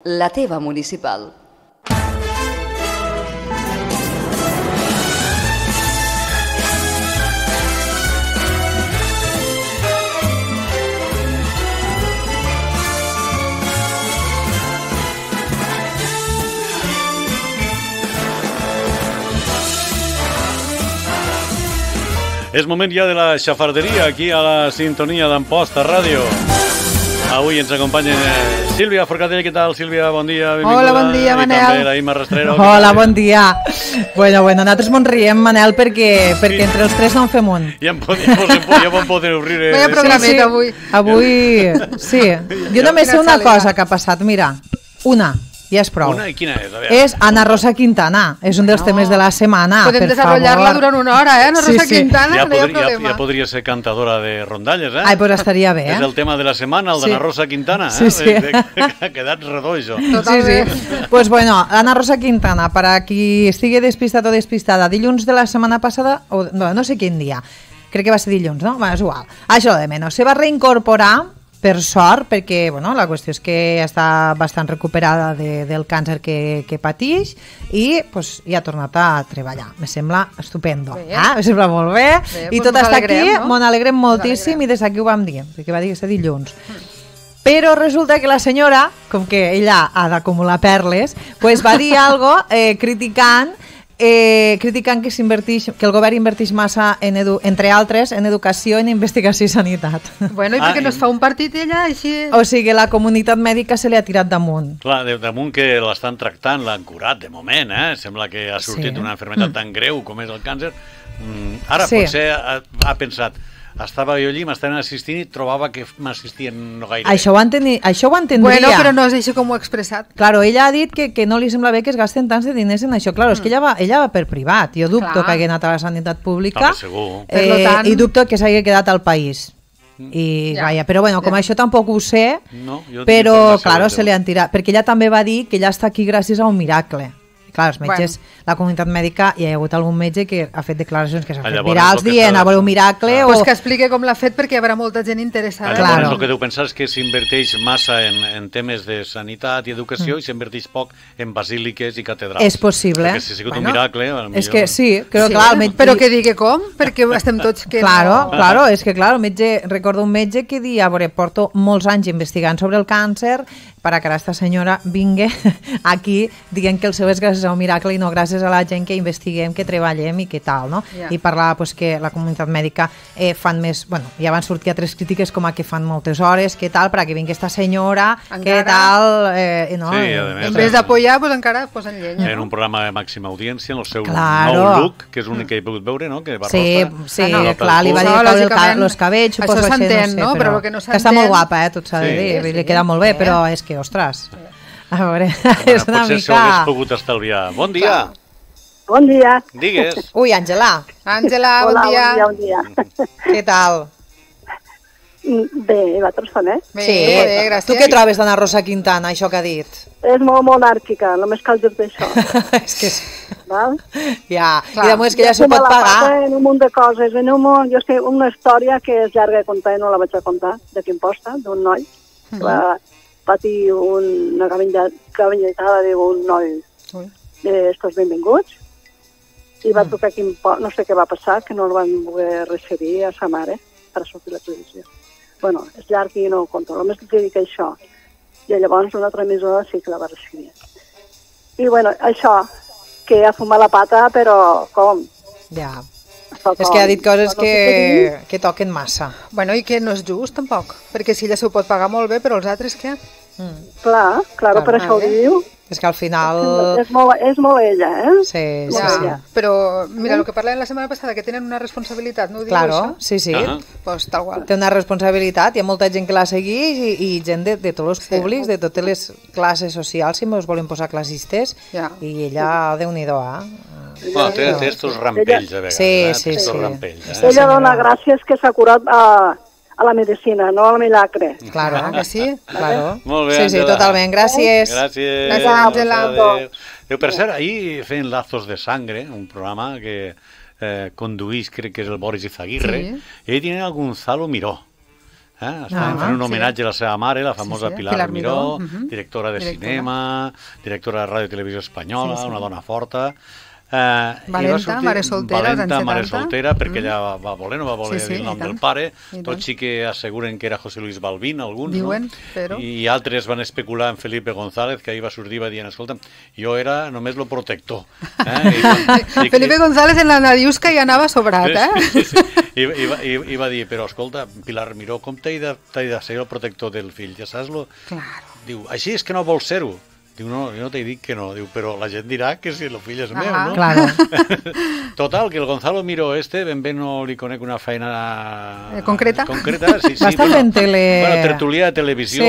La teva municipal. És moment ja de la xafarderia aquí a la sintonia d'Amposta Ràdio. Avui ens acompanyen Sílvia Forcadell. Què tal, Sílvia? Bon dia, benvinguda. Hola, bon dia, Manel. I també la Imma Rastrero. Hola, bon dia. Bueno, nosaltres mos riem, Manel, perquè entre els tres no en fem un. Ja vam poder obrir... Vaya programet avui. Avui, sí. Jo només sé una cosa que ha passat, mira, una. Ja és prou. Una? I quina és? És Ana Rosa Quintana. És un dels temes de la setmana. Podem desenvolupar-la durant una hora, Ana Rosa Quintana, no hi ha problema. Ja podria ser cantadora de rondalles, Ai, pues estaria bé, És el tema de la setmana, el d'Ana Rosa Quintana, Sí. Ha quedat redó, això. Sí. Pues bueno, Ana Rosa Quintana, per a qui estigui despistat o despistada, dilluns de la setmana passada, o no sé quin dia, crec que va ser dilluns, no? És igual. Això de menys. Se va reincorporar, per sort, perquè la qüestió és que està bastant recuperada del càncer que pateix i ja ha tornat a treballar. Me sembla estupendo. Me sembla molt bé. I tot està aquí, m'ho alegrem moltíssim i des d'aquí ho vam dir, perquè va dir que és dilluns. Però resulta que la senyora, com que ella ha d'acumular perles, va dir alguna cosa criticant que el govern inverteix massa, entre altres, en educació, en investigació i sanitat. Bueno, i perquè no es fa un partit ella així... O sigui, la comunitat mèdica se li ha tirat damunt. Clar, damunt que l'estan tractant, l'han curat de moment, Sembla que ha sortit una malaltia tan greu com és el càncer. Ara potser ha pensat... Estava jo allí, m'estaven assistint i trobava que m'assistien no gaire. Això ho entendria. Bueno, però no és això com ho ha expressat. Claro, ella ha dit que no li sembla bé que es gasten tants de diners en això. Claro, és que ella va per privat. Jo dubto que hagi anat a la sanitat pública i dubto que s'hagi quedat al país. Però com això tampoc ho sé, però claro, se li han tirat. Perquè ella també va dir que ella està aquí gràcies a un miracle. Clar, els metges, la comunitat mèdica, hi ha hagut algun metge que ha fet declaracions que s'han fet virals dient a veure un miracle Pues que expliqui com l'ha fet perquè hi haurà molta gent interessada. Llavors el que deu pensar és que s'inverteix massa en temes de sanitat i educació i s'inverteix poc en basíliques i catedrals. És possible. Perquè si ha sigut un miracle... És que sí, clar, però que digui com, perquè estem tots... Claro, és que el metge, recordo un metge que dia, porto molts anys investigant sobre el càncer para que aquesta senyora vingui aquí dient que el seu és gràcies a un miracle i no gràcies a la gent que investiguem, que treballem i que tal, no? I parlar que la comunitat mèdica fan més... ja van sortir altres crítiques com a que fan moltes hores, que tal, perquè vingui aquesta senyora, que tal... En vez d'apoyar, encara posen llenya. En un programa de màxima audiència, en el seu nou look, que és l'únic que he pogut veure, no? Sí, clar, li va dir que els cabells... Això s'entén, no? Però el que no s'entén... Que està molt guapa, tot s'ha de dir, li queda molt bé, però és que, ostres, a veure, és una mica... Potser s'ho hagués pogut estalviar. Bon dia! Bon dia! Digues! Ui, Àngela! Àngela, bon dia! Hola, bon dia. Què tal? Bé, vosaltres també? Sí, gràcies. Tu què trobes d'Ana Rosa Quintana, això que ha dit? És molt monàrquica, només cal dir d'això. És que... Val? Ja, i de que ja s'ho pot pagar. En un munt de coses, jo sé una història que és llarga de contar i no la vaig a contar, de Quimposta, d'un noi, que va patir una cabelletada d'un noi d'estos benvinguts, i va tocar Quimposta, no sé què va passar, que no el van voler referir a sa mare per sortir a la televisió. Bueno, és llarg i no ho conto, només que dic això. I llavors una altra emissora sí que la va referir. I bueno, això, que ha fumat la pata, però com? Ja. És que ha dit coses que toquen massa. Bueno, i que no és just, tampoc. Perquè si ella s'ho pot pagar molt bé, però els altres què? Clar, per això ho diu. És que al final... És molt ella, Sí. Però, mira, el que parlàvem la setmana passada, que tenen una responsabilitat, no ho diu això? Sí. Pues tal qual. Té una responsabilitat, hi ha molta gent que la segueix i gent de tots els públics, de totes les classes socials, si ens volen posar classistes, i ella, Déu-n'hi-do, té estos rampells, a vegades. Sí. Ella dona gràcies que s'ha curat a la medicina, no al milagre. Claro, que sí? Claro. Molt bé, sí, totalment. Gràcies. Gràcies, Àngela. Per cert, ahir feien Lazos de Sangre, un programa que conduís, crec que és el Boris Izaguirre, i ahí tienen a Gonzalo Miró. Estaven fent un homenatge a la seva mare, la famosa Pilar Miró, directora de cinema, directora de Ràdio i Televisió Espanyola, una dona forta. Valenta, mare soltera, Valenta, mare soltera, perquè ella va voler, no va voler dir el nom del pare. Tots sí que asseguren que era José Luis Balbín, alguns, no? I altres van especular en Felipe González, que ahir va sortir i va dir, escolta, jo era només lo protector. Felipe González en la Nadiusca ja anava sobrat, I va dir, però escolta, Pilar Miró, com t'he de ser el protector del fill? Ja saps-lo? Diu, així és que no vols ser-ho. Diu, no, jo no t'he dit que no. Diu, però la gent dirà que si el fill és meu, no? Claro. Total, que el Gonzalo Miró ben bé no li conec una feina... Concreta? Sí, va estar fent tele... Bueno, tertúlia de televisió.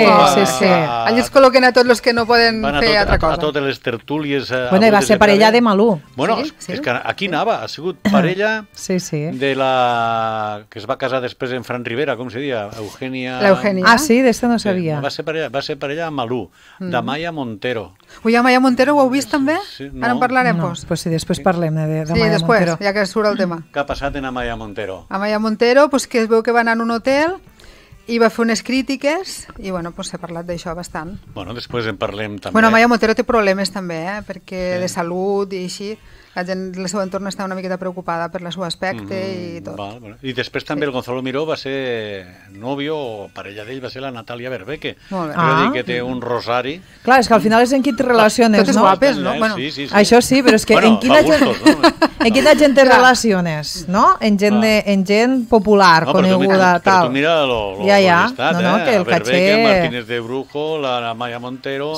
Sí. Allí es col·loquen a tots els que no poden fer altra cosa. A totes les tertúlies... Bueno, i va ser parella de Malú. Bueno, és que aquí anava. Ha sigut parella de la... que es va casar després en Fran Rivera, com se diria? Eugènia... Ah, sí, d'esta no sabia. Va ser parella amb Malú, de Maya Montero. Ui, a Maya Montero ho heu vist també? Ara en parlarem, doncs. Pues sí, després parlem de Maya Montero. Sí, després, ja que surt el tema. Què ha passat en Maya Montero? A Maya Montero, que es veu que va anar a un hotel i va fer unes crítiques i, bueno, s'ha parlat d'això bastant. Bueno, després en parlem també. Bueno, Maya Montero té problemes també, perquè de salut i així. La gent del seu entorn està una miqueta preocupada per el seu aspecte i tot. I després també el Gonzalo Miró va ser nòvio o parella d'ell, va ser la Natàlia Berbeque. Molt bé. Quiero dir que té un rosari. Clar, és que al final és en qui te relaciones, no? Totes guapes, no? Sí. Això sí, però és que en quina gent te relaciones, no? En gent popular, coneguda, tal. Però tu mira l'estat, que el caché... Martínez de Brujo, la Maya Montero,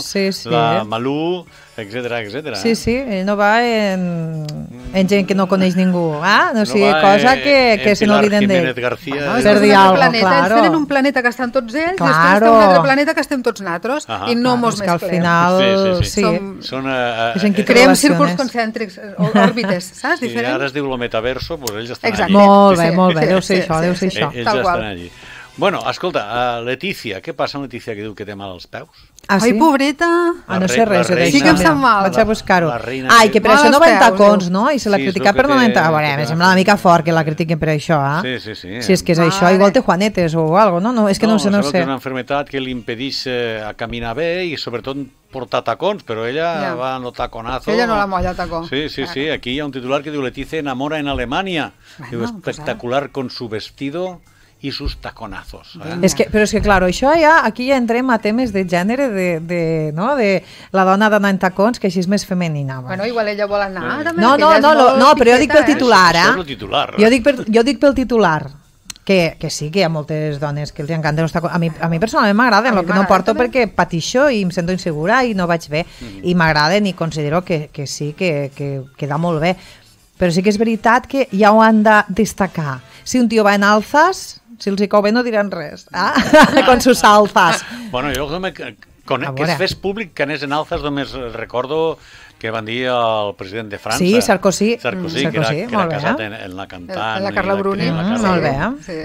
la Malú, etcètera. Sí, ell no va en gent que no coneix ningú, no sigui cosa que se n'obliden d'ell. Per dir alguna cosa, claro. Ells tenen un planeta que estan tots ells, després té un altre planeta que estem tots nosaltres, i no mos mesclem. Que al final, sí. Creem círculs concèntrics, òrbites, saps? I ara es diu el metaverso, doncs ells estan allí. Molt bé, deu ser això. Ells ja estan allí. Bueno, escolta, Letícia, què passa amb Letícia que diu que té mal als peus? Ai, pobreta! No sé res d'això. Sí que em sap mal. Vaig a buscar-ho. Ai, que per això no va en tacons, no? I se l'ha criticat per no anar en tacons. Em sembla una mica fort que la critiquen per això, Sí. Si és que és això, igual té juanetes o alguna cosa, no? És que no sé. És una malaltia que li impedeix a caminar bé i sobretot portar tacons, però ella va en el taconazo. Ella no la molla el tacó. Sí, aquí hi ha un titular que diu Letícia enamora en Alemania. Diu, espectacular con su vestido i sus taconazos. Però és que, clar, aquí ja entrem a temes de gènere, de la dona d'anar en tacons, que així és més femenina. Bueno, igual ella vol anar també. No, però jo dic pel titular, Jo dic pel titular, que sí, que hi ha moltes dones que els encanten els tacons. A mi personalment m'agraden, el que no porto perquè patixo i em sento insegura i no vaig bé. I m'agraden i considero que sí, que queda molt bé. Però sí que és veritat que ja ho han de destacar. Si un tio va en alzas, si els hi cau bé no diran res, con sus alzas. Bueno, jo que es fes públic que anés en alzas només recordo que van dir al president de França. Sí, Sarkozy, que era casat en la cantant. En la Carla Bruni. Molt bé,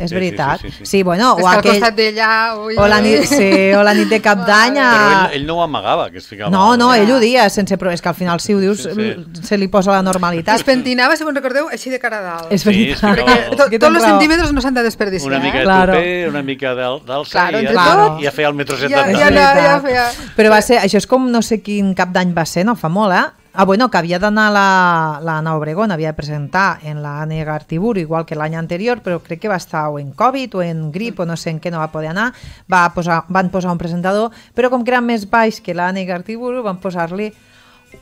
és veritat. Sí, bueno, o al costat d'ella... O la nit de Cap d'Any... Però ell no ho amagava, que es ficava... No, ell ho dia, sense... És que al final si ho dius se li posa la normalitat. Es pentinava, si me'n recordeu, així de cara a dalt. És veritat. Perquè tots els centímetres no s'han de desperdiciar. Una mica de tupé, una mica d'alça i ja feia el metro 70. Ja feia... Però va ser... Això és com no sé quin Cap d'Any va ser, no fa molt, bueno, que havia d'anar l'Anna Obregón, havia de presentar en l'Anne Gartiburu, igual que l'any anterior, però crec que va estar o en Covid o en grip o no sé en què no va poder anar, van posar un presentador, però com que era més baix que l'Anne Gartiburu, van posar-li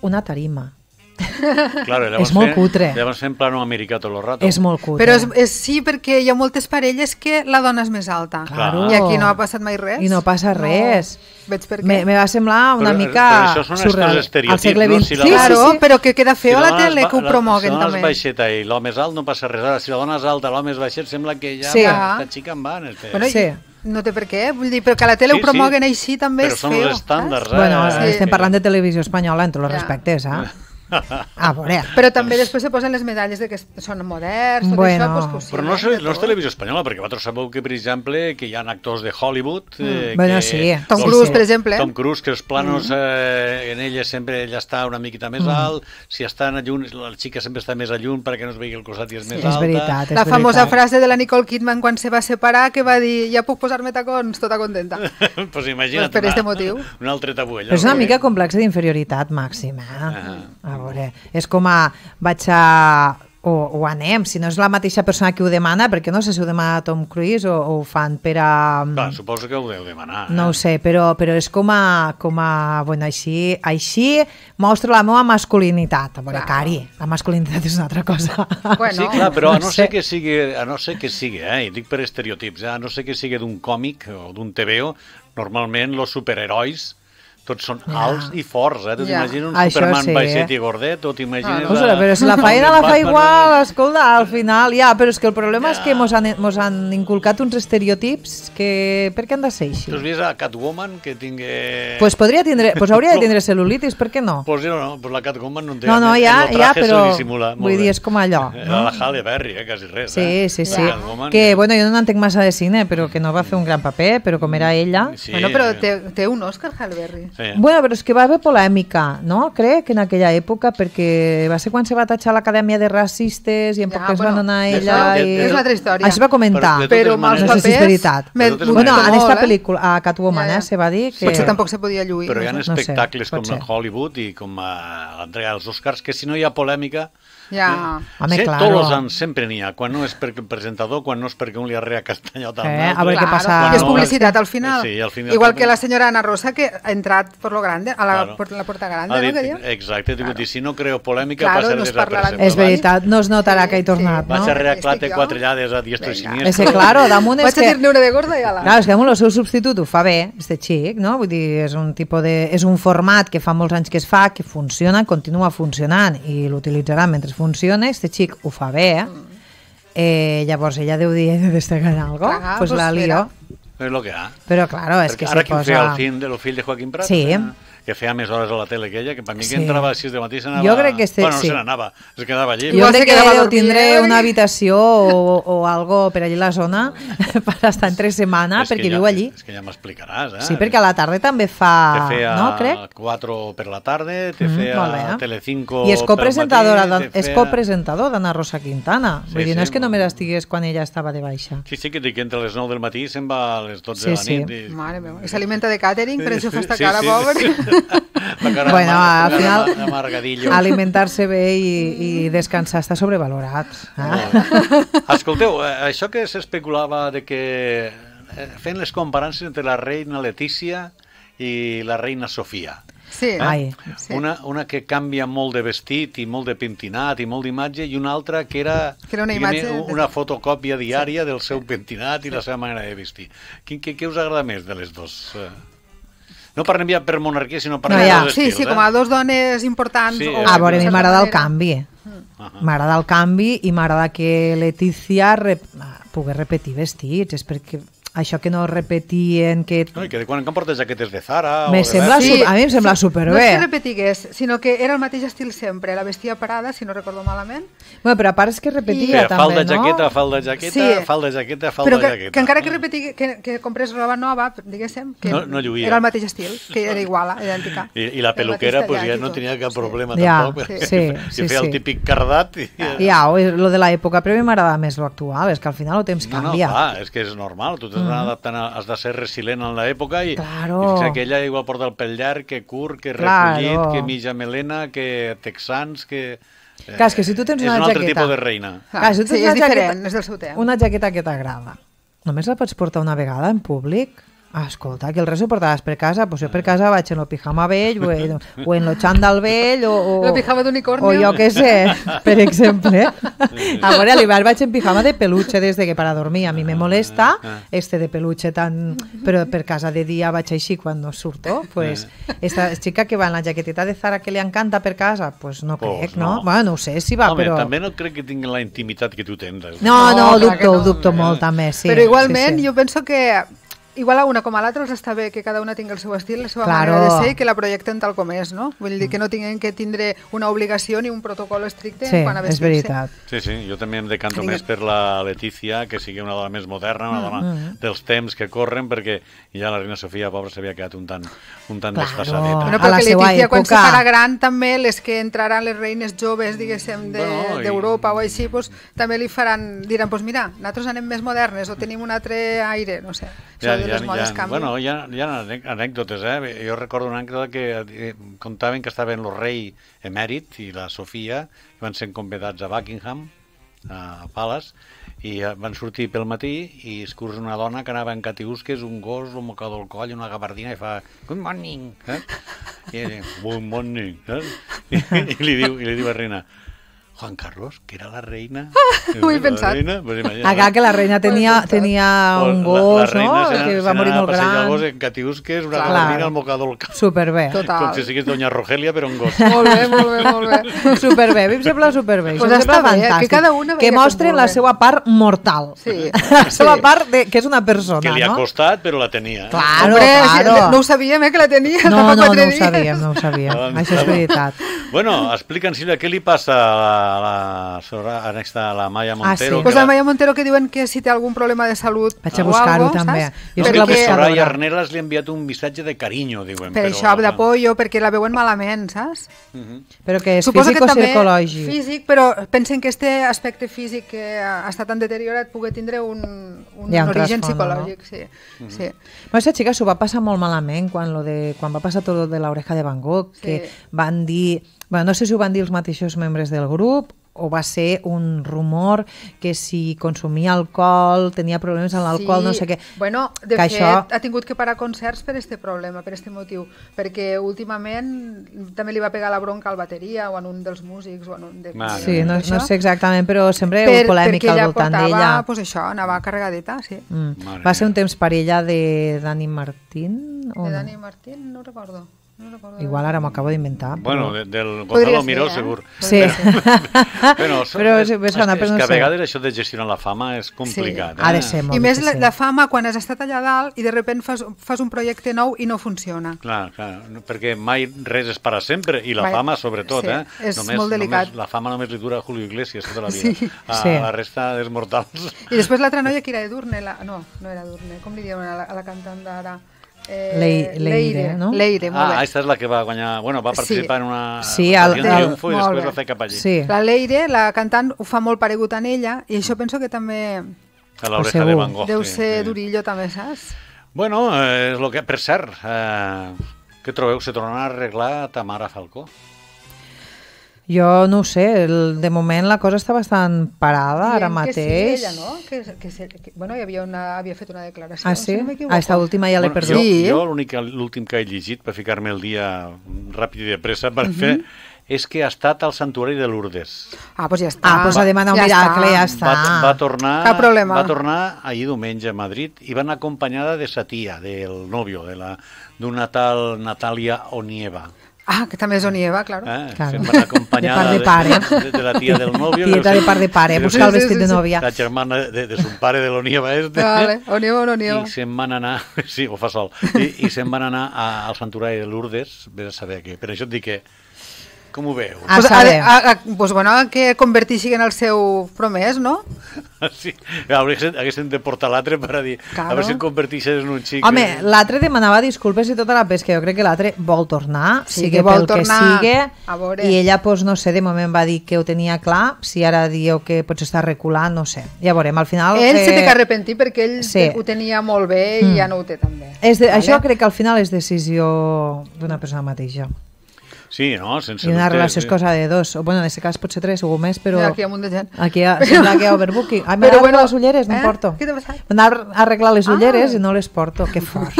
una tarima. Claro, és molt cutre. Llavors fem plano americà tot el rato. És molt cutre. Però sí, perquè hi ha moltes parelles que la dona és més alta. Claro. I aquí no ha passat mai res. I no passa res. Veig per què. Me va semblar una mica surreal. Al segle XX. Claro, però que queda feo a la tele que ho promoguen també. Si la dona és baixeta i l'home és alt no passa res. Ara, si la dona és alta i l'home és baixet, sembla que ja aquesta xica en van. Sí. No té per què, vull dir, però que a la tele ho promoguen així també és feo. Però són els estàndards. Bueno, estem parlant de televisió espanyola en tots els respectes, A veure. Però també després se posen les medalles de que són moderns, tot Bueno. això, pues, Però no és televisió espanyola, perquè vosaltres sabeu que, per exemple, que hi ha actors de Hollywood... Bueno, que sí. Tom Cruise, per exemple. Tom Cruise, que els planos en ella sempre ella està una miqueta més alt, si està a lluny, la xica sempre està més a lluny perquè no es vegi el costat i és més alta. És veritat, és La famosa veritat. frase de la Nicole Kidman quan se va separar, que va dir, ja puc posar-me tacons, tota contenta. Pues imagina't Pues per este motiu. un altre tabú allà. Però és una mica complex d'inferioritat màxima. A veure, és com a vaig a... O anem, si no és la mateixa persona que ho demana, perquè no sé si ho demana Tom Cruise o ho fan per a... Clar, suposo que ho deu demanar. No ho sé, però és com a bueno, així mostra la meva masculinitat. A veure, Cari, la masculinitat és una altra cosa. Bueno, Sí, clar, però a no no ser sé. que sigui, i dic per estereotips, a no ser que sigui d'un còmic o d'un TVO, normalment els superherois tots són alts i forts, Tu t'imagines un Això Superman sí. baixet i gordet, o t'imagines... Ostres, però si la feina la fa igual, escolta, al final, però és que el problema és que mos han inculcat uns estereotips que... Per què han de ser així? Tu has vist a Catwoman que tingui... Pues hauria de tindre cel·lulitis, per què no? Pues no, pues la Catwoman no en té. No, en ja, el traje però se dissimula molt vull dir, bé. és com allò, Era no? la Halle Berry, quasi res. Sí. Catwoman, Que, bueno, jo no entenc massa de cine, però que no va fer un gran paper, però com era ella... Sí, Bueno, però té un Oscar, Halle Berry. sí. Bueno, però és que va haver polèmica, no? Crec, en aquella època, perquè va ser quan se va tatxar l'Acadèmia de racistes i en poc temps van anar ella i... És una altra història. Això es va comentar. Però de Però totes amb els no sé si és papers... veritat. De totes Bueno, maneres. en esta pel·lícula, a Catwoman, Ja. se va dir que... Potser tampoc se podia lluir. Però hi ha no sé, espectacles pot com ser. Hollywood i com a l'entrega dels Oscars que si no hi ha polèmica... Ja. Home, sí, claro. tots els anys sempre n'hi ha, quan no és perquè el presentador, quan no és perquè un li arrea castanyot al a veure què passa. Que és Quan no- publicitat al final. Sí, al final Igual també. que la senyora Ana Rosa, que ha entrat por lo grande, a la, Claro. por la puerta grande, Ha no? dit, Que diu? exacte, claro. Si no creo polèmica Claro, passa no es parlarà desapercebut. És veritat, no es notarà que he tornat, Vaig no? a reaclate Estic jo. quatre llades a diestro i Vinga. siniestro. És que, claro, damunt és Vaig a que... dir-ne una de gorda i ala. Clar, és que damunt el seu substitut ho fa bé, este xic, no? Vull dir, és un tipus de... És un format que fa molts anys que es fa, que funciona, continua funcionant i l'utilitzarà mentre funciona, este xic ho fa bé, llavors ella deu dir, he de destacar algo, Clar, pues pues la lío. És el que hi ha. Però, claro, és que Ara se qui feia posa... el fill de Joaquim Prat? Sí. Que feia més hores a la tele que ella, que per mi Sí. que entrava a les 6 de matí s'anava... Jo crec que Bueno, no sí. se n'anava, es quedava allí. Jo Igual crec se que quedava a deu dormir, tindre una habitació o algo per allí a la zona per estar entre setmana, És que perquè ja- viu allí. És que ja m'explicaràs, Sí, perquè a la tarda també fa... Te feia No, crec? 4 per la tarda, te molt bé. feia Telecinco I és copresentadora, pel matí, te és feia- copresentador d'Anna Rosa Quintana. Sí, Vull dir, sí, no és que molt només bé. estigués quan ella estava de baixa. Sí, sí, que dic que entre les 9 del matí se'n va a les 12 de la Sí, nit. sí. Mare meva, i s'alimenta de catering, per això fa esta Sí, cara, sí. pobre. La cara Bueno, al final, amargadillo. alimentar-se bé i descansar està sobrevalorat. Escolteu, això que s'especulava de que fent les comparances entre la reina Letícia i la reina Sofia. Sí. Ai. Sí. Una que canvia molt de vestit i molt de pentinat i molt d'imatge i una altra que era, Que era una diguem-ne, imatge una fotocòpia diària del seu pentinat i la seva manera de vestir. Què us agrada més de les dues? No parlem ja per monarquia, sinó parlem No, ja. dels Sí, estils. sí, com a dos dones importants. Sí, A veure, a mi de certa m'agrada el manera. canvi. M'agrada el canvi i m'agrada que Letícia pugui repetir vestits. És perquè això que no repetien... Que... No, i que de quan en quan porta jaquetes de Zara... Me o de sembla Bershka. a mi em sembla No és superbé. que repetigués, sinó que era el mateix estil sempre. La vestia parada, si no recordo malament. Bueno, però a part és que repetia Feia també, falda, no? jaqueta, falda, jaqueta, Sí. falda, jaqueta, falda, Però jaqueta. que encara que repetigui, que comprés roba nova, diguéssim, que No lluïa. era el mateix estil, que era igual, idèntica. I la El peluquera mateix pues, ja tallat i no tot. tenia cap Sí. problema Ja, tampoc. perquè sí, feia sí. el típic cardat. Ja, lo de l'època, però a mi m'agrada més lo actual, és que al final el temps No, canvia. clar, és que és normal, tu t'has d'anar adaptant, has de ser resilient en l'època i, Claro. i fixa't que ella igual porta el pèl llarg, que curt, que Claro. recollit, que mitja melena, que texans, que... Clar, és que si tu tens és una un altre jaqueta... tipus de reina. Clar, si tu Sí, tens és una diferent, jaqueta- és del seu temps. Una jaqueta que t'agrada. Només la pots portar una vegada en públic? Ah, escolta, que el res ho portaves per casa, doncs jo per casa vaig en el pijama vell o en lo xandall vell o El pijama d'unicornio. o jo què sé, per exemple. A veure, a l'hivern vaig en pijama de peluche des de que para dormir. A mi me molesta este de peluche tan... Però per casa de dia vaig així quan no surto. Pues, esta xica que va en la jaqueteta de Zara que li encanta per casa, pues no Pues crec, no. no? Bueno, no sé si va, Home, però... també no crec que tinguin la intimitat que tu tens. No, No, clar que ho no. dubto molt també, sí. Però igualment sí, sí. jo penso que igual a una com a l'altra els està bé que cada una tingui el seu estil, la seva manera de ser i que la projecten tal com és, no? Vull dir que no tinguin que tindre una obligació ni un protocol estricte quan a vestir-se. Sí, és veritat. Sí, jo també em decanto més per la Letícia, que sigui una dona més moderna, una dona dels temps que corren, perquè ja la reina Sofia, pobra, s'havia quedat un tant desfasadeta. Bueno, perquè Letícia, quan se farà gran, també les que entraran les reines joves, diguéssim, d'Europa o així, també li diran, mira, nosaltres anem més modernes o tenim un altre aire, no sé. Bueno, hi ha anècdotes, Jo recordo una anècdota que contaven que estaven el rei emèrit i la Sofia, que van ser convidats a Buckingham, a Palace, i van sortir pel matí i es cursa una dona que anava en catiusques, un gos, un mocador al coll, una gabardina, i fa good morning, i good morning, i li diu a la reina, Juan Carlos, que era la reina. Ho he pensat. Acá que la reina tenia un gos, no? Que va morir molt gran. El gos en catiusques, una gabardina al mocador al cap. Superbé. Com si sigués Doña Rogelia, però un gos. Molt bé. Superbé, a mi em sembla superbé. Pues està bé, que cada una que mostren la seva part mortal. Sí. La seva part que és una persona, no? Que li ha costat, però la tenia. Claro. No ho sabíem, que la tenia. No ho sabíem. Això és veritat. Bueno, explica'ns, Sílvia, què li passa a la Maya Montero? Pues la Maya Montero, que diuen que si té algun problema de salut vaig a buscar-ho també. Perquè Soraya Arnelas li ha enviat un missatge de carinyo, diuen. Per això, d'apollo, perquè la veuen malament, saps? Però que és físic o psicològic? Físic, però pensen que este aspecte físic que està tan deteriorat pugui tindre un origen psicològic. Sí. Aquesta xica s'ho va passar molt malament quan va passar tot de l'oreja de Van Gogh, que van dir... Bueno, no sé si ho van dir els mateixos membres del grup o va ser un rumor que si consumia alcohol, tenia problemes amb l'alcohol, no sé què. Bueno, de fet, ha tingut que parar concerts per este problema, per este motiu, perquè últimament també li va pegar la bronca al bateria o en un dels músics. Sí, no sé exactament, però sempre hi ha hagut polèmica al voltant d'ella. Perquè ella portava, pues això, anava carregadeta, sí. Va ser un temps parella de Dani Martín? De Dani Martín, no recordo. Igual ara m'ho acabo d'inventar. Bueno, del Gonzalo Miró, segur. Sí. Però és que a vegades això de gestionar la fama és complicat. Ha de ser molt difícil. I més la fama quan has estat allà dalt i de sobte fas un projecte nou i no funciona. Clar, perquè mai res és per a sempre i la fama sobretot. És molt delicat. La fama només li dura a Julio Iglesias tota la vida. A la resta dels mortals. I després l'altra noia que era Edurne, no era Edurne, com li diuen a la cantant d'ara? Leire, no? Leire, molt bé. Aquesta és la que va guanyar, va participar en una triomfo i després va fer cap allí. La Leire, la cantant, ho fa molt paregut en ella i això penso que també a l'oreja de Van Gogh deu ser durillo també, saps? Bueno, és el que, per cert, què trobeu? Se tornarà a arreglar Tamara Falcó? Jo no ho sé, de moment la cosa està bastant parada ara mateix. Que sí, ella, no? Bueno, havia fet una declaració. Ah, sí? Esta última ja l'he perdut. Jo l'últim que he llegit, per ficar-me el dia ràpid i de pressa per fer, és que ha estat al santuari de Lourdes. Ah, doncs ja està. Ah, doncs a demanar un miracle, ja està. Va tornar, cap problema. Va tornar ahir diumenge a Madrid i va anar acompanyada de sa tia, del nòvio, d'una tal Natàlia Onieva. Ah, que també és Onieva, claro. Se'n van acompanyada de la tia del nòvio. Tieta de part de pare, buscar el vestit de nòvia. La germana de son pare de l'Onieva este. Vale, Onieva o no Onieva. I se'n van anar, sí, ho fa sol, i se'n van anar al santuari de Lourdes, vés a saber què. Per això et dic que, com ho veu? Pues bueno, que convertixin en el seu promès, no? Sí, haguessin de portar l'altre per a dir, a veure si em convertixes en un xic. Home, l'altre demanava disculpes i tota la pesca, jo crec que l'altre vol tornar, sigui pel que sigui, i ella, pues no sé, de moment va dir que ho tenia clar, si ara diu que potser està reculant, no sé, ja veurem, al final... Ell se té que arrepentir perquè ell ho tenia molt bé i ja no ho té tan bé. Això crec que al final és decisió d'una persona mateixa. Sí, no? Sense I una relació és cosa de dos. Bueno, en aquest cas potser tres o més, però... Aquí hi ha un munt de gent. Aquí sembla que hi ha overbooking. M'he d'arreglar les ulleres, no porto. Què t'ha passat? M'he d'arreglar les ulleres i no les porto. Que fort.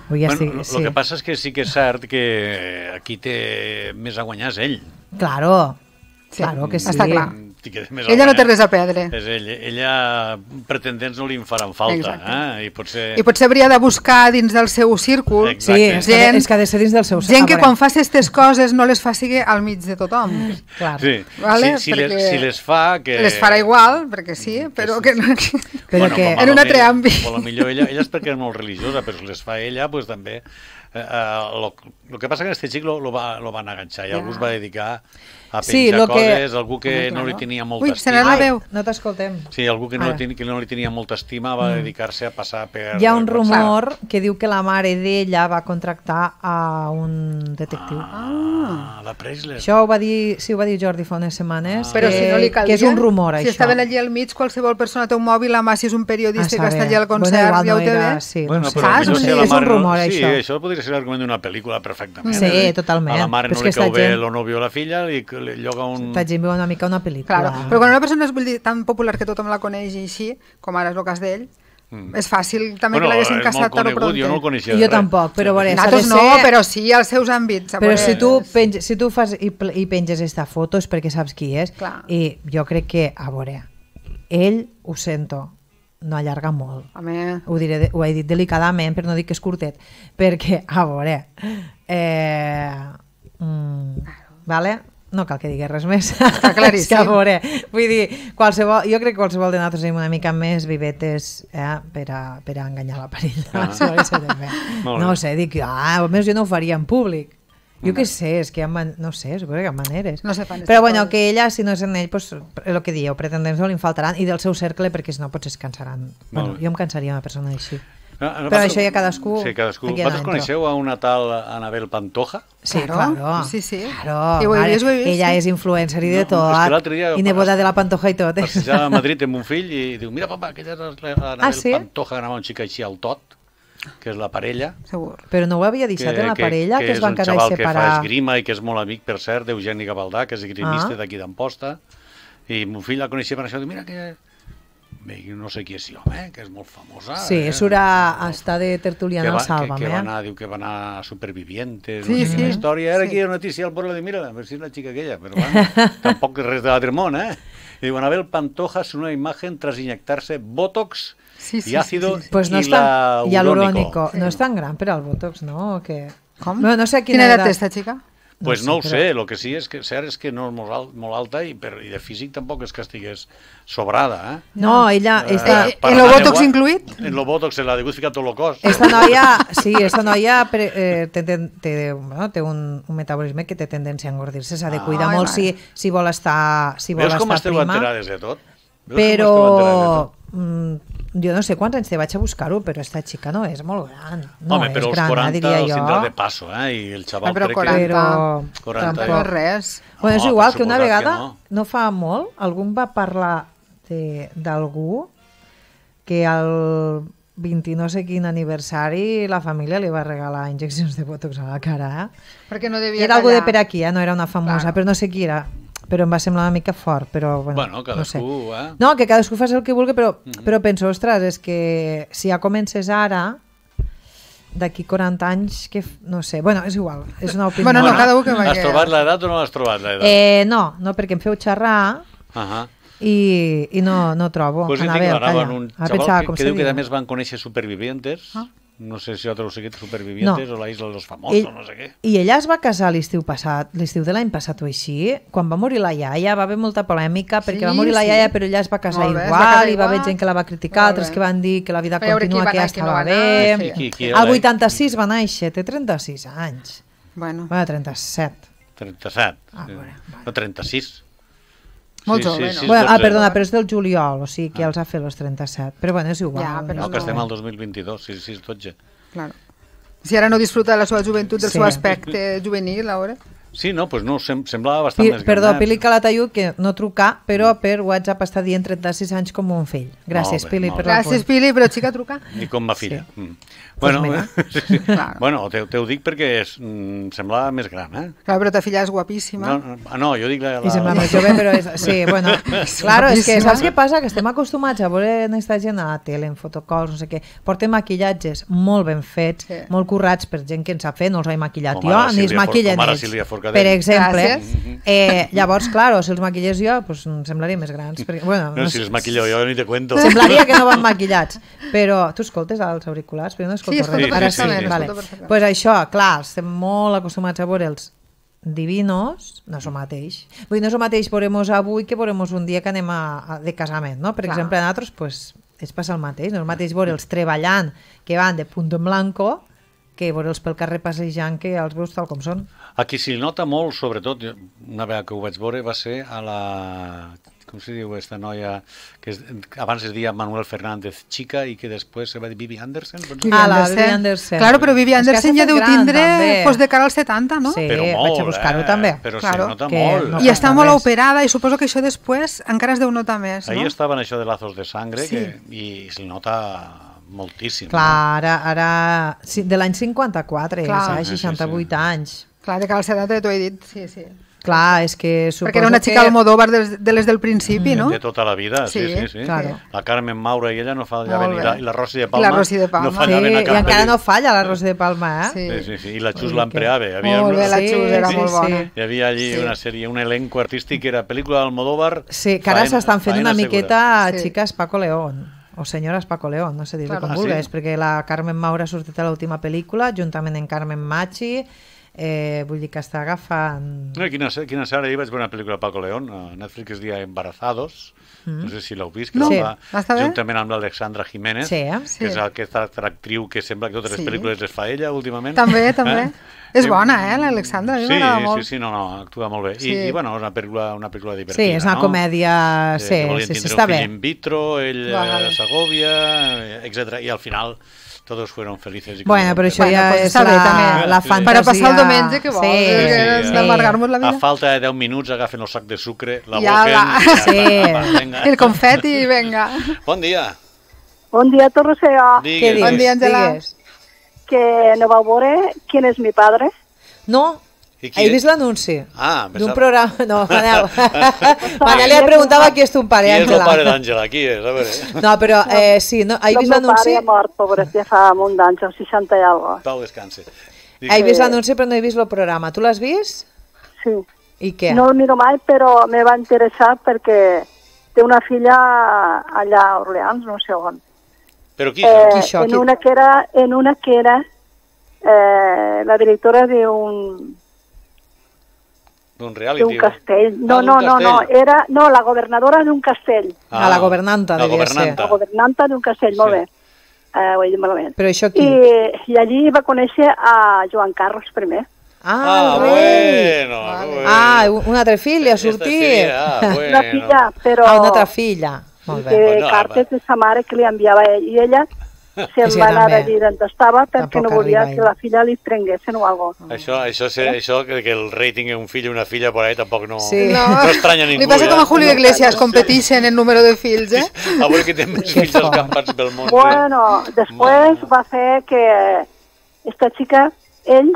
El que passa és que sí que és cert que aquí té més a guanyar és ell. Claro que sí. Està clar. Ella no té res a perdre. Ella, pretendents no li en faran falta. I potser hauria de buscar dins del seu círcul. Sí, és que ha de ser dins del seu círcul. Gent que quan faci aquestes coses no les faci al mig de tothom. Si les fa... Les farà igual, perquè sí, però que no... En un altre àmbit. Potser ella és perquè és molt religiosa, però si les fa ella, doncs també... El que passa que aquest xic lo van enganxar i algú es va dedicar a penjar coses, algú que no li tenia molta estima. No t'escoltem. Sí, algú que no li tenia molta estima va dedicar-se a passar per... Hi ha un rumor que diu que la mare d'ella va contractar a un detectiu. La Preisler. Això ho va dir Jordi fa unes setmanes, però si no li caldria, que és un rumor, això. Si estaven allí al mig, qualsevol persona té un mòbil, a mà, si és un periodista que està allà al concert, ja ho té bé. És un rumor, això. Sí, això podria ser l'argument d'una pel·lícula perfectament. Sí, totalment. A la mare no li cau bé el nòvio o la filla i li lloga un... Esta gent viu una mica una pel·lícula. Però quan una persona és tan popular que tothom la coneix i així, com ara és el cas d'ell, és fàcil també que l'haguessin casat tard o pronto. Jo no el coneixia. Jo tampoc, però nosaltres no, però sí als seus àmbits. Però si tu fas i penges esta foto és perquè saps qui és. I jo crec que, a veure, ell, ho sento, no allarga molt. Ho he dit delicadament, però no dic que és curtet, perquè, a veure, vale? No cal que digués res més. Està claríssim. A veure, vull dir, jo crec que qualsevol de nosaltres tenim una mica més vivetes per a enganyar la parella. No sé, dic, almenys jo no ho faria en públic. Jo què sé, és que no sé, suposo que hi ha maneres. Però bueno, que ella, si no és en ell, el que dieu, pretendents no li faltaran, i del seu cercle, perquè si no potser es cansaran. Bueno, jo em cansaria una persona així. Però això ja cadascú... Sí, cadascú. Vosaltres coneixeu a una tal Anabel Pantoja? Sí, claro. Sí. Ella és influencer i de tot, i neboda de la Pantoja i tot. Passejava a Madrid amb un fill i diu, mira papa, aquella és l'Anabel Pantoja, que anava un xic així al tot, que és la parella. Segur. Però no ho havia deixat en la parella, que es van quedar separar. i Que és un xaval que fa esgrima i que és molt amic, per cert, d'Eugeni Gavaldà, que és esgrimista d'aquí d'Amposta, i mon fill la coneixia per això, diu, mira que... Bé, no sé qui és jo, que és molt famosa. Sí, està de tertuliana al Sálvame. Diu que va anar a Supervivientes, no sé quina història. Era aquí una notícia al poble de mira, a veure si és la xica aquella, però bueno, tampoc és res de l'altre món, I diu, Anabel Pantoja es una imagen tras inyectarse Botox y ácido hialurónico. No és tan gran per al Botox, ¿no? Com? No sé quina edat té esta xica? Pues no ho sé, el que sí és que cert és que no és molt alta i de físic tampoc és que estigués sobrada. No, ella... En lo Botox incluït? En lo Botox, en la dibuix ficat tot el cos. Esta noia té un metabolisme que té tendència a engordir-se, s'ha de cuidar molt si vol estar prima. Veus com esteu enterades de tot? Però... jo no sé quants anys te vaig a buscar-ho, però esta xica no és molt gran. Home, però els 40 els tindrà de passo, i el xaval crec que... Però 40 no és res. És igual que una vegada, no fa molt, algú va parlar d'algú que al 20 no sé quin aniversari la família li va regalar injeccions de botox a la cara. Perquè no devia era algú de per aquí, no era una famosa, però no sé qui era. Però em va semblar una mica fort, però... Bueno, cadascú, No, que cadascú faci el que vulgui, però penso, ostres, és que si ja comences ara, d'aquí 40 anys, que no sé, bueno, és igual, és una opinió. Bueno, no, cada un que vagi. Has trobat l'edat o no has trobat l'edat? No, perquè em feu xerrar i no trobo. Pues jo tinc un xaval que diu que a més van conèixer Supervivientes. No sé si altres heu seguit Supervivientes o la Isla de los Famosos, no sé què. I ella es va casar l'estiu de l'any passat o així, quan va morir la iaia, va haver molta polèmica, perquè va morir la iaia però ella es va casar igual, i va haver gent que la va criticar, altres que van dir que la vida continua, que ja estava bé. Al 86 va néixer, té 36 anys. Bueno, 37. 37? No, 36. Molt jove, no? Perdona, però és del juliol, o sigui que ja els ha fet els 37. Però bueno, és igual. No, que estem al 2022, 6-12. Claro. Si ara no disfruta de la seva joventut, del seu aspecte juvenil, ara... Sí, no, doncs no, semblava bastant més gran. Perdó, Pili Calatayud, que no trucar, però per WhatsApp està dient 36 anys com un fill. Gràcies, Pili, per la Gràcies, Pili, però xica, truca. I com ma filla. Bueno, t'ho dic perquè semblava més gran, Clar, però ta filla és guapíssima. No, jo dic I sembla més jove, però sí, bueno. Claro, és que saps què passa? Que estem acostumats a veure aquesta gent a la tele, en fotocalls, no sé què. Porten maquillatges molt ben fets, molt currats per gent que en sap fer, no els he maquillat jo, ni es maquillen ells. Forcadell. Per exemple. Llavors, clar, si els maquillés jo, doncs em semblaria més grans. Perquè, bueno, no, si els maquillo jo ni te cuento. Semblaria que no van maquillats. Però tu escoltes els auriculars? Però jo no escolto res. Sí. Pues això, clar, estem molt acostumats a veure els divinos, no és el mateix. Vull dir, no és el mateix veurem-nos avui que veurem-nos un dia que anem de casament, no? Per exemple, a nosaltres, pues, és passar el mateix. No és el mateix veure'ls treballant, que van de punto en blanco, que veure'ls pel carrer passejant, que els veus tal com són. Aquí s'hi nota molt, sobretot, una vegada que ho vaig veure, va ser a la... Com se diu esta noia que abans es deia Manuel Fernández Chica i que després se va dir Vivi Anderson? La Vivi Anderson. Claro, però Vivi Anderson ja deu tindre de cara als 70, no? Sí, vaig a buscar-ho també. Però se nota molt. I està molt operada i suposo que això després encara es deu notar més, no? Ahí estaven això de Lazos de Sangre i se nota moltíssim. Clar, ara de l'any 54, 68 anys. Clar, de cara als 70 t'ho he dit, sí. Clar, és que suposo perquè era una xica Almodóvar de les del principi, no? De tota la vida, sí. Claro. La Carmen Maura i ella no fallaven, i la Rosy de Palma, no fallaven a cap. I encara no falla la Rosy de Palma, Sí. I la Xus Lampreave. Molt bé, la Xus era molt bona. Hi havia allí una sèrie, un elenco artístic que era pel·lícula d'Almodóvar. Sí, que ara s'estan fent una miqueta xiques Paco León, o senyores Paco León, no sé dir-li com vulguis, perquè la Carmen Maura ha sortit a l'última pel·lícula, juntament amb Carmen Machi. Vull dir que està agafant... Quina sèrie, ahir vaig veure una pel·lícula de Paco León a Netflix, es deia Embarazados, no sé si l'heu vist, que juntament amb l'Alexandra Jiménez, que és aquesta actriu que sembla que totes les pel·lícules les fa ella últimament. També. És bona, l'Alexandra, a mi m'agrada molt. Sí, actua molt bé. I bueno, és una pel·lícula divertida, sí, és una comèdia, sí, està bé. In vitro, ell a Segovia, etc. I al final todos fueron felices. Bueno, però això ja és la fantasia. Per a passar el diumenge, què vols? D'amargar-nos la vida. A falta de 10 minuts agafen el sac de sucre, la boquen... El confeti, venga. Bon dia. Bon dia, Torrecea. Què digues? Bon dia, Àngela. Que no vau veure Quién es mi padre? No. He vist l'anunci d'un programa... No, Manel. Manel li preguntava qui és ton pare, Àngela. Qui és el pare d'Àngela? Qui és? A veure. No, però sí, he vist l'anunci... El meu pare ha mort, pobret, ja fa un d'anys, als 60 i alguna cosa. Pau, descanse. He vist l'anunci però no he vist el programa. Tu l'has vist? Sí. I què? No el miro mai, però me va interessar perquè té una filla allà a Orleans, no sé on. Però qui és? En una que era la directora d'un reality. D'un castell. No, era la governadora d'un castell. La governanta, devia ser. La governanta d'un castell, molt bé. Ho he dit malament. Però això qui? I allí va conèixer a Joan Carles I. Bueno. Un altre fill li ha sortit. Una filla, però... Una altra filla. Molt bé. Cartes de sa mare que li enviava ell. I ella se'n va anar a dir on estava perquè no volia que la filla li prenguessin o alguna cosa. Això que el rei tingui un fill i una filla por ahí tampoc no estranya ningú. Li passa com a Julio Iglesias, competeixen en número de fills, A veure qui té més fills escampats pel món. Bueno, després va fer que esta chica, ell,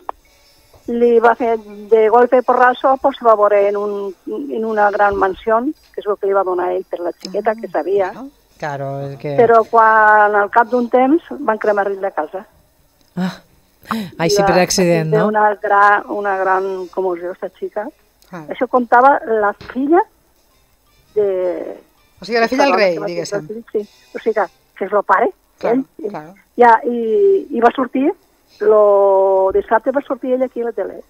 li va fer de golpe porrazo, pues se va veure en una gran mansió, que és el que li va donar ell per la xiqueta, que sabia. Claro, és que... Però quan al cap d'un temps van cremar-li la casa. Així per accident, no? Una gran commoció, aquesta xica. Això contava la filla de... O sigui, la filla del rei, diguéssim. Sí, o sigui que és el pare. Claro. I va sortir, dissabte va sortir ell aquí a la tele.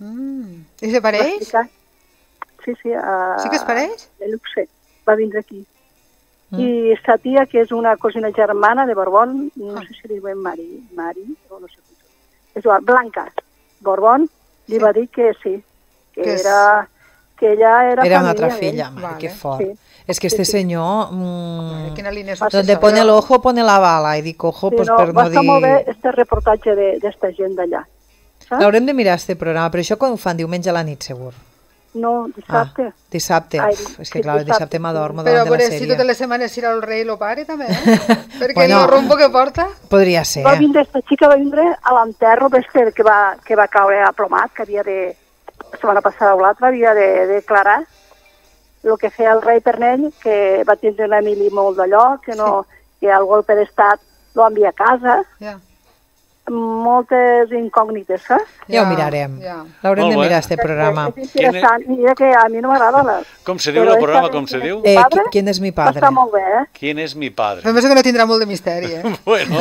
I se pareix? Sí. Sí que es pareix? Luxe, va vindre aquí. I sa tia, que és una cosina germana de Borbón, no sé si li diuen Mari, o no sé com. És igual, Blanca Borbón, li va dir que sí, que ella era família. Era una altra filla, que fort. És que este senyor, donde pone el ojo, pone la bala, i dic ojo, pues per no dir... Va estar molt bé este reportatge d'esta gent d'allà. L'haurem de mirar, este programa, però això quan ho fan diumenge a la nit, segur. No, dissabte. Dissabte. És que clar, dissabte m'adormo davant de la sèrie. Però si totes les setmanes serà el rei i el pare, també, Perquè el rumbo que porta... Podria ser. Esta xica va vindre a l'enterro que va caure aplomat, que havia de... La setmana passada o l'altra havia de declarar el que feia el rei per ell, que va tindre una mili molt d'allò, que el golpe d'estat lo envia a casa. moltes incògnites, saps? Ja ho mirarem. L'haurem de mirar, este programa. És interessant. Mira que a mi no m'agrada. Com se diu el programa, com se diu? ¿Quién es mi padre? Està molt bé, eh? ¿Quién es mi padre? Però penso que no tindrà molt de misteri, eh? Bueno,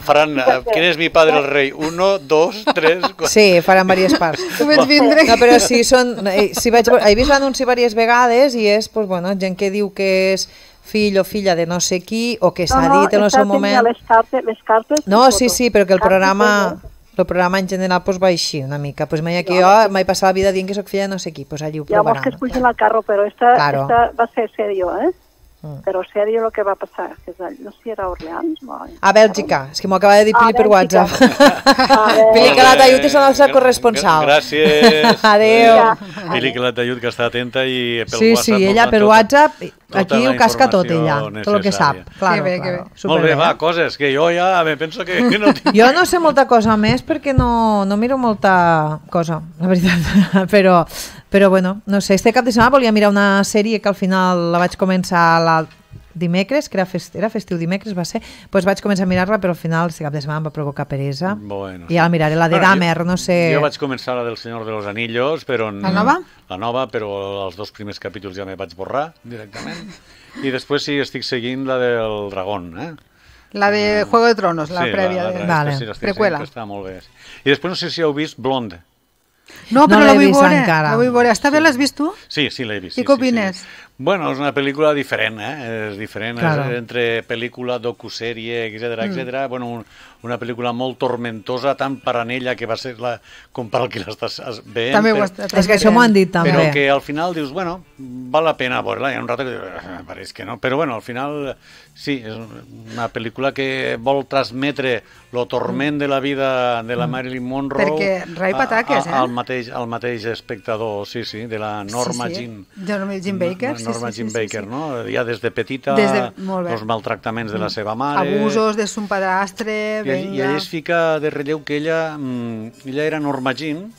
faran ¿quién es mi padre el rei? 1, 2, 3, 4... Sí, faran diverses parts. Tu veig vindre. No, però si són... He vist l'anunci diverses vegades i és, pues, bueno, gent que diu que és fill o filla de no sé qui, o que s'ha dit en el seu moment... Les cartes... No, sí, però que el programa en general pues, va així una mica. Pues mai aquí jo m'he passat la vida dient que soc filla de no sé qui, pues allí ho provaran. Ja que es pugen al carro, però esta va ser serio, eh? Però serio lo que va passar. No sé si era Orleans o... A Bèlgica, és que m'ho acaba de dir Pili per WhatsApp. Pili Calatayud és el nostre corresponsal. Gràcies. Adéu. Pili Calatayud, que està atenta i pel WhatsApp... Sí, ella per WhatsApp, aquí ho casca tot ella, tot el que sap. Que bé. Molt bé, va, coses, que jo ja me penso que no tinc... Jo no sé molta cosa més perquè no miro molta cosa, la veritat, però bueno, no sé, este cap de setmana volia mirar una sèrie que al final la vaig començar dimecres, que era festiu dimecres, va ser, doncs vaig començar a mirar-la, però al final este cap de setmana em va provocar peresa. Bueno, i ja la miraré, la de Dahmer, no sé... Jo vaig començar la del Senyor de los Anillos, però... La nova? La nova, però els 2 primers capítols ja me vaig borrar directament. I després sí, estic seguint la del Dragón, eh? La de Juego de Tronos, la prèvia. Vale. Preqüela. Està molt bé. I després no sé si heu vist Blonde. No, però no la vull veure encara. La vull veure. Està bé, l'has vist tu? Sí, l'he vist. I què opines? Bueno, és una pel·lícula diferent, és diferent, claro. És entre pel·lícula, docusèrie, etc. Bueno, una pel·lícula molt tormentosa, tant per a ella que va ser com per al que l'estàs veient. També és que això m'ho han dit també. Però que al final dius, bueno, val la pena veure-la. Hi ha un rato que pareix que no, però bueno, al final sí, és una pel·lícula que vol transmetre el torment de la vida de la Marilyn Monroe perquè rai pataques, al mateix espectador, sí, de la Norma Jean Baker. Norma Jean Baker, no? Ja des de petita, els maltractaments de la seva mare... Abusos de son padrastre... I ella es fica de relleu que ella era Norma Jean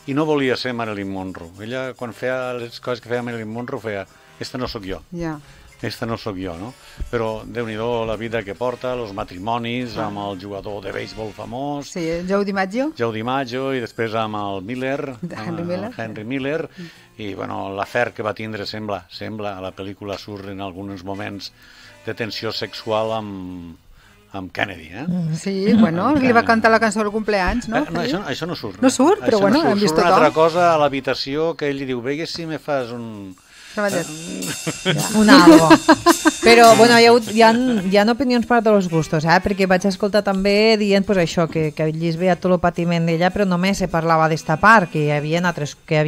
i no volia ser Marilyn Monroe. Ella, quan feia les coses que feia Marilyn Monroe, feia, esta no sóc jo. Esta no sóc jo, no? Però Déu-n'hi-do la vida que porta, els matrimonis amb el jugador de béisbol famós... Sí, Joe DiMaggio. Joe DiMaggio, i després amb el Miller, Henry Miller, i bueno, l'afer que va tindre sembla, a la pel·lícula surt en alguns moments de tensió sexual amb Kennedy, eh? Sí, bueno, li va cantar la cançó del cumpleaños, no? No, això no surt. No surt, però bueno, hem vist tot. Surt una altra cosa a l'habitació que ell li diu, vegue si me fas un... un algo. Però bueno, hi ha opinions per a tots els gustos, perquè vaig escoltar també dient pues, això, que ell es veia tot el patiment d'ella, però només se parlava d'esta part, que hi havia altres, que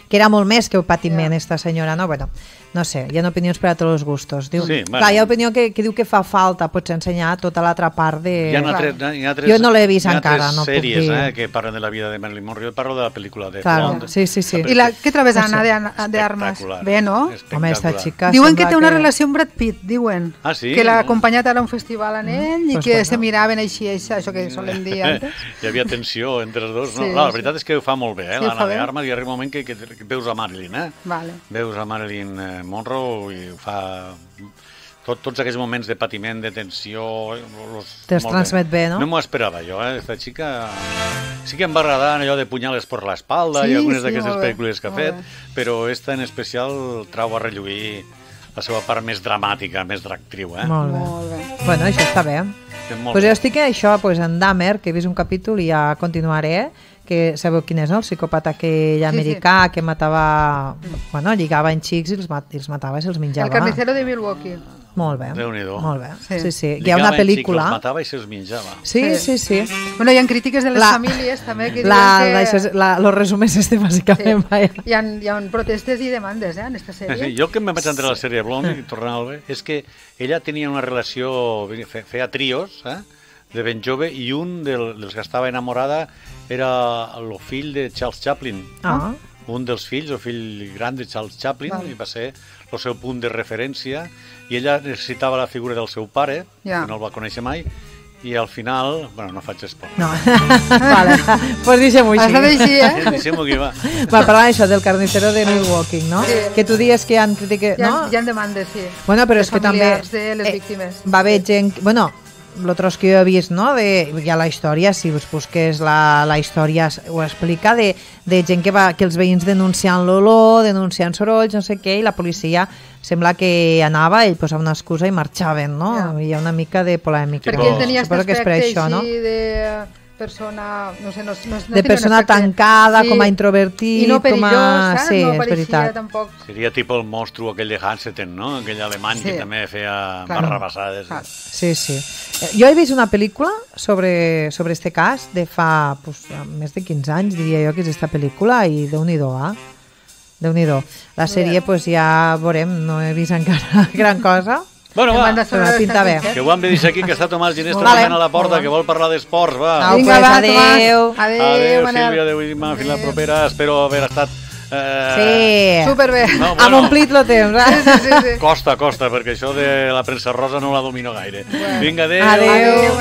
era molt més que el patiment esta senyora, no? Bueno, no sé, hi ha opinions per a tots els gustos. Diu, sí, clar, hi ha opinió que diu que fa falta potser ensenyar tota l'altra part de... Jo no l'he vist encara, no puc dir. Hi ha 3 sèries que parlen de la vida de Marilyn Monroe, jo parlo de la pel·lícula de Blonde. Sí. I què trobes, Anna, d'Armes? Bé, no? Home, esta xica... Diuen que té una relació amb Brad Pitt, diuen. Ah, sí? Que l'ha acompanyat ara a un festival en ell i que se miraven així, això que solen dir antes. Hi havia tensió entre els dos. La veritat és que ho fa molt bé, l'Anna d'Armes, i arriba un moment que veus a Marilyn, veus a Marilyn Monroe i ho fa... Tots aquells moments de patiment, de tensió... Te'ls transmet bé, no? No m'ho esperava jo, Esta xica... Sí que em va agradar allò de punyales per l'espalda i algunes d'aquestes pel·lícules que ha fet, però esta en especial trau a relluir la seva part més dramàtica, més d'actriu, Molt bé. Bueno, això està bé. Pues jo estic en Dahmer, que he vist un capítol i ja continuaré, que sabeu quin és, no? El psicòpata americà que matava... Bueno, lligava en xics i els matava i se'ls menjava. El carnicero de Milwaukee. Molt bé. Déu-n'hi-do. Molt bé. Sí. Hi ha una pel·lícula... Els matava i se'ls menjava. Sí. Bueno, hi ha crítiques de les famílies també que diuen que... Los resumers bàsicament. Hi ha protestes i demandes, en aquesta sèrie. Jo el que em vaig entrar a la sèrie Blonde, i tornant al bé, és que ella tenia una relació... Feia trios, de ben jove, i un dels que estava enamorada era el fill de Charles Chaplin. Un dels fills, el fill gran de Charles Chaplin, i va ser el seu punt de referència, i ella necessitava la figura del seu pare, que no el va conèixer mai, i al final... Bueno, no faig esport. No. Vale, pues deixem-ho així. Has de dir, Deixem-ho aquí, va. Va, parlant això del carnicero de Milwaukee, no? Sí. Que tu dies que hi ha crítiques... Hi ha demandes, sí. Bueno, però és que també... de les víctimes. Va haver gent... Bueno, l'altre que jo he vist, no? Hi ha la història, si us busques la història ho explica, de gent que els veïns denunciant l'olor, denunciant sorolls, no sé què, i la policia sembla que anava, ell posava una excusa i marxaven, no? Hi ha una mica de polèmica. Perquè ell tenia aquest aspecte així, no? de persona, no sé, no de persona tancada, com a introvertit, i no perillós, sí, no és veritat. Tampoc. Seria tipus el monstru aquell de Hansen, no? Aquell alemany que també feia barrabassades. Sí. Jo he vist una pel·lícula sobre este cas de fa més de 15 anys, diria jo, que és esta pel·lícula, i Déu-n'hi-do, Déu-n'hi-do. La sèrie, ja veurem, no he vist encara gran cosa. Bueno, va, pinta bé. Que ho hem de dir aquí, que està Tomàs Ginesta a la porta, que vol parlar d'esports, va. Vinga, va, adéu. Adéu, Sílvia, adéu, Imma, fins la propera. Espero haver estat... Sí, superbé. Hem omplit el temps. Sí. Costa, perquè això de la premsa rosa no la domino gaire. Vinga, adéu. Adéu.